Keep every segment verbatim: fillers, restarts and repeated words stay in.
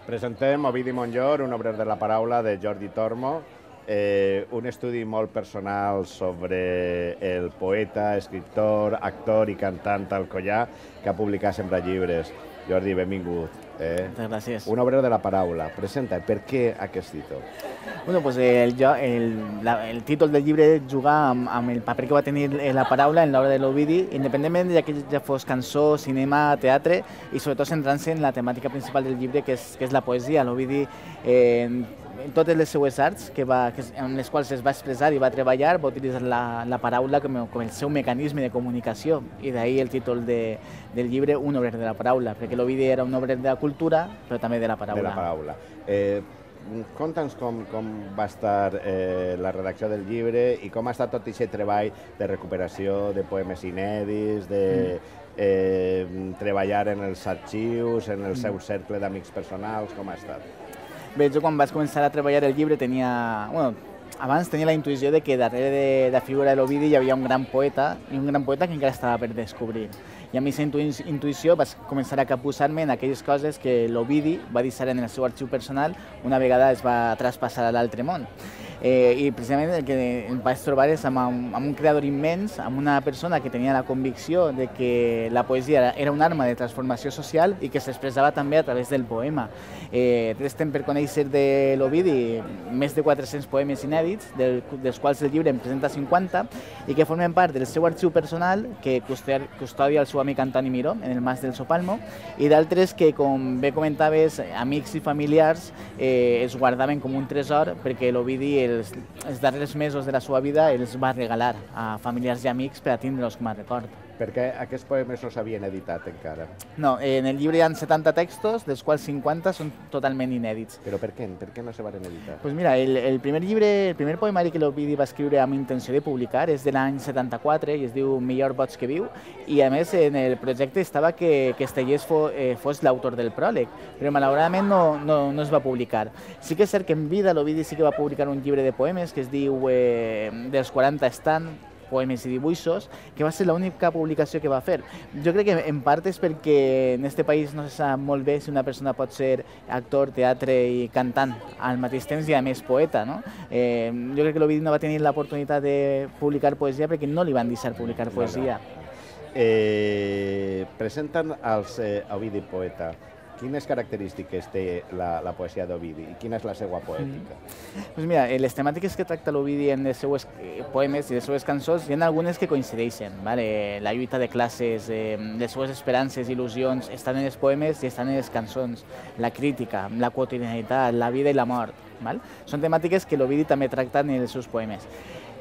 Presentem Ovidi Montllor, un obrer de la paraula de Jordi Tormo, eh, un estudi molt personal sobre el poeta, escriptor, actor i cantant Alcoià, que ha publicat sempre llibres. Jordi, benvingut. Eh? Moltes gràcies. Un obrer de la paraula. Presenta, per què aquest títol? Bueno, pues el, el, la, el títol del llibre juga amb, amb el paper que va tenir la paraula en l'obra de l'Ovidi, independentment de que ja fos cançó, cinema, teatre, i sobretot centrant-se en la temàtica principal del llibre, que és, que és la poesia. L'Ovidi, eh, en totes les seues arts, que va, que, en les quals es va expressar i va treballar, va utilitzar la, la paraula com, com el seu mecanisme de comunicació, i d'ahir el títol de, del llibre, Un obrer de la paraula, perquè l'Ovidi era un obrer de la cultura, però també de la paraula. De la paraula. Eh, Conta'ns com, com va estar eh, la redacció del llibre i com ha estat tot aquest treball de recuperació de poemes inèdits, de eh, treballar en els arxius, en el seu cercle d'amics personals, com ha estat? Bé, jo quan vaig començar a treballar el llibre tenia... Bueno, abans tenia la intuïció de que darrere de la figura de l'Ovidi hi havia un gran poeta, i un gran poeta que encara estava per descobrir. I a mi aquesta intuïció vaig començar a capbussar-me en aquelles coses que l'Ovidi va deixar en el seu arxiu personal una vegada es va traspassar a l'altre món. Eh, I precisament el que em vaig trobar és amb un, amb un creador immens, amb una persona que tenia la convicció de que la poesia era una arma de transformació social i que s'expressava també a través del poema. Eh, restem per conèixer de l'Ovidi més de quatre-cents poemes inèdits, del, dels quals el llibre en presenta cinquanta, i que formen part del seu arxiu personal, que custodia el seu amic Antoni Miró, en el Mas del Sopalmo, i d'altres que, com bé comentaves, amics i familiars eh, es guardaven com un tresor, perquè l'Ovidi els, els darrers mesos de la seva vida els va regalar a familiars i amics per a tindre'ls com a record. Perquè aquests poemes no s'havien editat encara. No, en el llibre hi ha setanta textos, dels quals cinquanta són totalment inèdits. Però per què? Per què no se van editar? Pues mira, el, el primer llibre, el primer poemari que l'Ovidi va escriure amb intenció de publicar és de l'any setanta-quatre i es diu Millor boig que viu, i a més en el projecte estava que, que Estellés fos, eh, fos l'autor del pròleg, però malauradament no, no, no es va publicar. Sí que és cert que en vida l'Ovidi sí que va publicar un llibre de poemes que es diu eh, Dels quaranta estant, poemes i dibuixos, que va ser l'única publicació que va fer. Jo crec que en part és perquè en aquest país no se sap molt bé si una persona pot ser actor, teatre i cantant al mateix temps i a més poeta, no? Eh, jo crec que l'Ovidi no va tenir l'oportunitat de publicar poesia perquè no li van deixar publicar poesia. Eh, presenten els eh, Ovidi poeta. Quines característiques té la, la poesia d'Ovidi i quina és la seva poètica? Mm. Pues mira, les temàtiques que tracta l'Ovidi en els seus poemes i les seves cançons hi ha algunes que coincideixen. ¿Vale? La lluita de classes, eh, les seves esperances i il·lusions estan en els poemes i estan en les cançons. La crítica, la quotidianitat, la vida i la mort. ¿Vale? Són temàtiques que l'Ovidi també tracta en els seus poemes.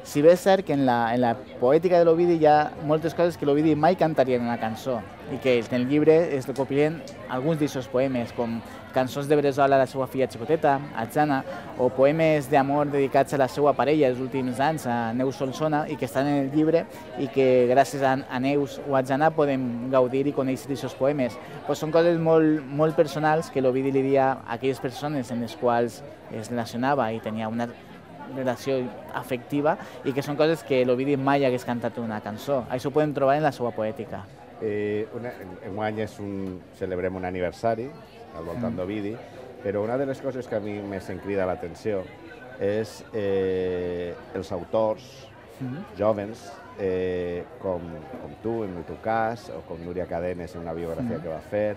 Si bé és cert que en la, en la poètica de l'Ovidi hi ha moltes coses que l'Ovidi mai cantaria en una cançó i que en el llibre es recopilen alguns d'aquests poemes, com cançons de Bresola a la seva filla xicoteta, a Jana, o poemes d'amor dedicats a la seva parella els últims anys, a Neus Solsona, i que estan en el llibre i que gràcies a, a Neus o a Jana podem gaudir i conèixer d'aquests poemes. Pues són coses molt, molt personals que l'Ovidi li dia a aquelles persones en les quals es relacionava i tenia una relació afectiva i que són coses que l'Ovidi mai hagués cantat en una cançó. Això ho podem trobar en la seva poètica. Eh, una, enguany és un, celebrem un aniversari al voltant mm. d'Ovidi, però una de les coses que a mi més em crida l'atenció és eh, els autors mm. jovens, eh, com, com tu, en el teu cas, o com Núria Cadenes en una biografia mm. que va fer,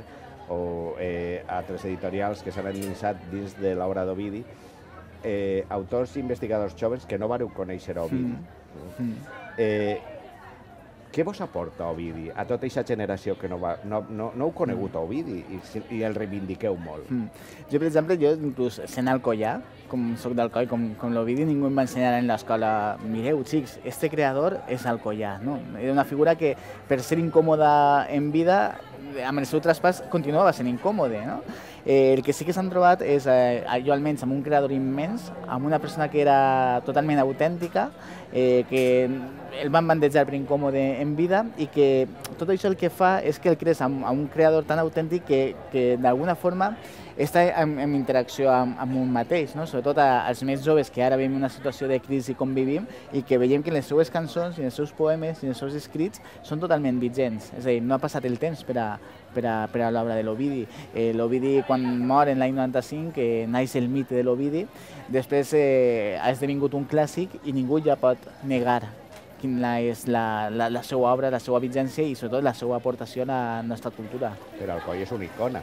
o eh, altres editorials que s'han endinsat dins de l'obra d'Ovidi, Eh, autors i investigadors joves que no vareu conèixer Ovidi. Mm. Eh, què vos aporta Ovidi a tota aquesta generació que no, va, no, no, no heu conegut Ovidi i, i el reivindiqueu molt? Mm. Jo, per exemple, jo inclús sent Alcoià, com soc d'Alcoi, com, com l'Ovidi, ningú em va ensenyar en l'escola, mireu, xics, este creador és Alcoià, no? Era una figura que, per ser incòmoda en vida, amb el seu traspàs continuava sent incòmode, no? Eh, el que sí que s'han trobat és, eh, jo almenys, amb un creador immens, amb una persona que era totalment autèntica, eh, que el van bandejar per incòmode en vida i que tot això el que fa és que el crees amb, amb un creador tan autèntic que, que d'alguna forma està en, en interacció amb, amb un mateix, no? Sobretot als més joves que ara vivim una situació de crisi com vivim i que veiem que les seues cançons i els seus poemes i els seus escrits són totalment vigents, és a dir, no ha passat el temps per a, per a, per a l'obra de l'Ovidi. Eh, L'Ovidi, quan mor en l'any noranta-cinc, eh, naix el mite de l'Ovidi, després eh, ha esdevingut un clàssic i ningú ja pot negar quina és la, la, la seva obra, la seva vigència i sobretot la seva aportació a la nostra cultura. Però Alcoi és una icona.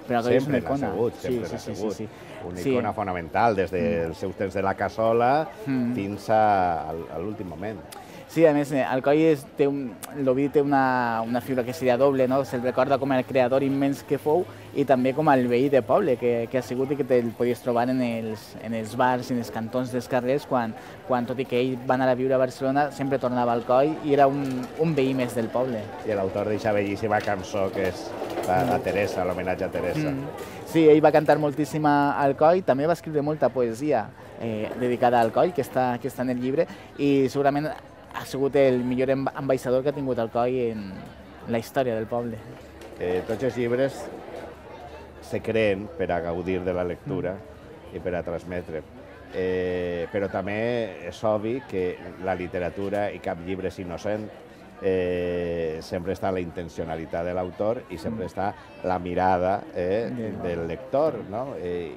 Però Alcoi és una Sempre icona. l'ha sigut, sempre sí, l'ha sí, sigut. sí, sí. Una Sí. icona fonamental, des dels seus temps de la cassola Mm. fins a, a l'últim moment. Sí, a més, Alcoi és, té un, l'Ovidi té una, una figura que seria doble, no? Se'l recorda com el creador immens que fou i també com el veí de poble que, que ha sigut i que te'l podies trobar en els, en els bars i en els cantons dels carrers quan, quan, tot i que ell va anar a viure a Barcelona, sempre tornava a Alcoi i era un, un veí més del poble. I l'autor d'aquesta bellíssima cançó que és la, la Teresa, l'homenatge a Teresa. Mm. Sí, ell va cantar moltíssim a Alcoi, també va escriure molta poesia eh, dedicada a Alcoi, que està, que està en el llibre, i segurament ha sigut el millor ambaixador que ha tingut Alcoi en la història del poble. Eh, tots els llibres se creen per a gaudir de la lectura mm. i per a transmetre. Eh, però també és obvi que la literatura i cap llibre és innocent. Eh, sempre està la intencionalitat de l'autor i sempre està la mirada eh, del lector, no? Eh,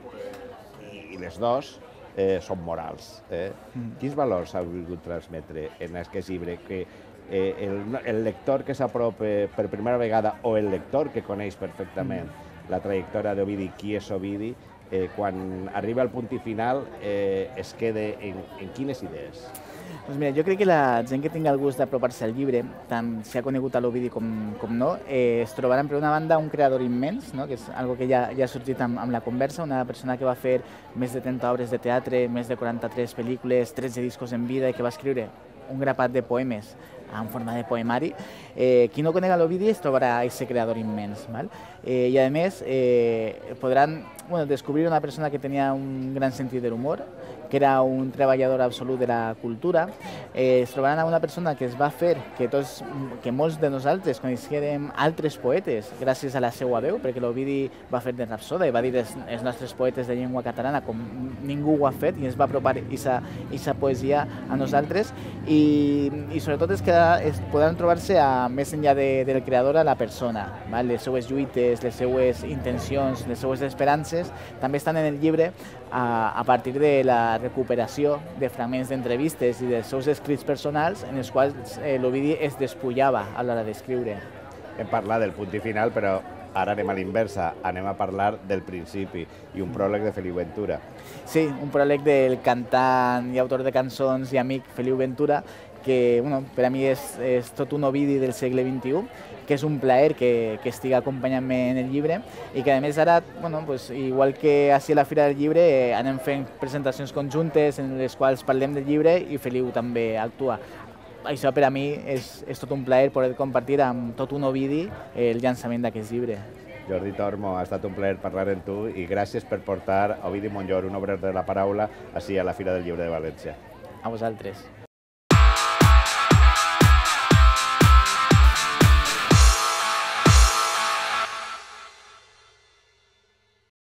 i, i les dos eh, són morals. Eh? Mm. Quins valors ha volgut transmetre en aquest llibre? Que eh, el, el lector que s'apropa per primera vegada o el lector que coneix perfectament mm. la trajectòria d'Ovidi, qui és Ovidi, eh, quan arriba al punt i final eh, es queda en, en quines idees? Doncs mira, jo crec que la gent que tingui el gust d'apropar-se al llibre, tant si ha conegut a l'Ovidi com, com no, eh, es trobaran per una banda un creador immens, no? Que és algo que ja, ja ha sorgit amb, amb la conversa, una persona que va fer més de trenta obres de teatre, més de quaranta-tres pel·lícules, tretze discos en vida i que va escriure un grapat de poemes en forma de poemari. Eh, qui no conega l'Ovidi es trobarà aquest creador immens. Val? Eh, I a més eh, podran bueno, descobrir una persona que tenia un gran sentit de l'humor, que era un treballador absolut de la cultura. Eh, es trobaran a una persona que es va fer que, tots, que molts de nosaltres coneixérem altres poetes gràcies a la seva veu, perquè l'Ovidi va fer de rapsoda i va dir els, els nostres poetes de llengua catalana com ningú ho ha fet i ens va apropar aquesta poesia a nosaltres i, i sobretot és que es podran trobar-se a, més enllà de, del creador a la persona, val? Les seues lluites, les seues intencions, les seues esperances també estan en el llibre a, a partir de la recuperació de fragments d'entrevistes i dels seus escrits personals en els quals eh, l'Ovidi es despullava a l'hora d'escriure. Hem parlat del punt i final, però ara anem a l'inversa, anem a parlar del principi i un pròleg de Feliu Ventura. Sí, un pròleg del cantant i autor de cançons i amic Feliu Ventura, que bueno, per a mi és, és tot un Ovidi del segle vint-i-u, que és un plaer que, que estigui acompanyant-me en el llibre i que a més ara, bueno, pues, igual que així a la Fira del Llibre, eh, anem fent presentacions conjuntes en les quals parlem del llibre i Feliu també actua. Això per a mi és, és tot un plaer poder compartir amb tot un Ovidi el llançament d'aquest llibre. Jordi Tormo, ha estat un plaer parlar amb tu i gràcies per portar Ovidi Montllor, un obrer de la paraula, així a la Fira del Llibre de València. A vosaltres.